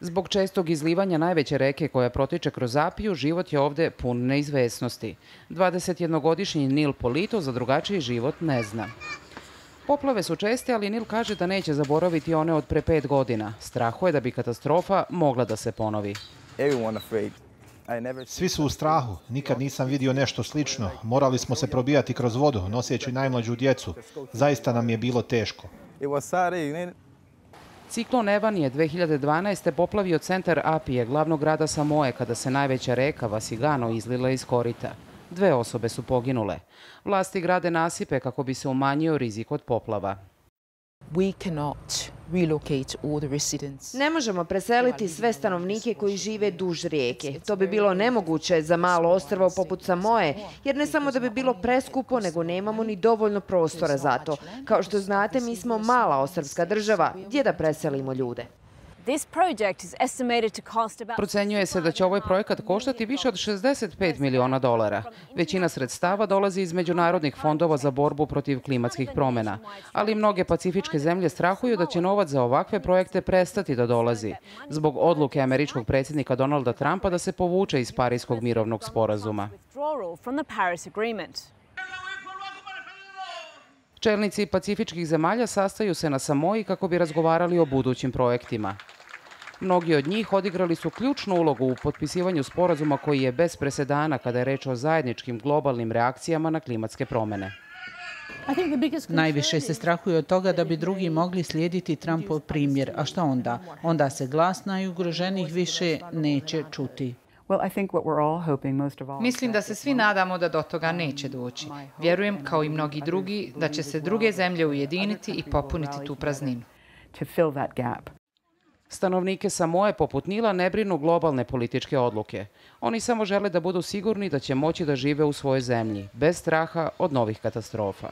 Zbog čestog izlivanja najveće reke koja protiče kroz Apiju, život je ovde pun neizvesnosti. 21-godišnji Neil Polito za drugačiji život ne zna. Poplave su česte, ali Neil kaže da neće zaboraviti one od pre 5 godina. Strahuje da bi katastrofa mogla da se ponovi. Svi su u strahu. Nikad nisam vidio nešto slično. Morali smo se probijati kroz vodu, noseći najmlađu djecu. Zaista nam je bilo teško. Ciklon Evan je 2012. poplavio centar Apije, glavnog grada Samoe, kada se najveća reka Vasigano izlila iz korita. 2 osobe su poginule. Vlasti grade nasipe kako bi se umanjio rizik od poplava. Ne možemo preseliti sve stanovnike koji žive duž rijeke. To bi bilo nemoguće za malo ostrvo poput Samoe, jer ne samo da bi bilo preskupo, nego nemamo ni dovoljno prostora za to. Kao što znate, mi smo mala ostrvska država. Gdje da preselimo ljude? Procenjuje se da će ovaj projekat koštati više od $65 miliona. Većina sredstava dolazi iz međunarodnih fondova za borbu protiv klimatskih promjena, ali mnoge pacifičke zemlje strahuju da će novac za ovakve projekte prestati da dolazi, zbog odluke američkog predsjednika Donalda Trumpa da se povuče iz Parijskog mirovnog sporazuma. Čelnici pacifičkih zemalja sastaju se na Samoji kako bi razgovarali o budućim projektima. Mnogi od njih odigrali su ključnu ulogu u potpisivanju sporazuma koji je bez presedana kada je reč o zajedničkim globalnim reakcijama na klimatske promjene. Najviše se strahuje od toga da bi drugi mogli slijediti Trumpov primjer. A šta onda? Onda se glas najugroženijih više neće čuti. Mislim da se svi nadamo da do toga neće doći. Vjerujem, kao i mnogi drugi, da će se druge zemlje ujediniti i popuniti tu prazninu. Stanovnike Samoe poput Nila ne brinu globalne političke odluke. Oni samo žele da budu sigurni da će moći da žive u svojoj zemlji, bez straha od novih katastrofa.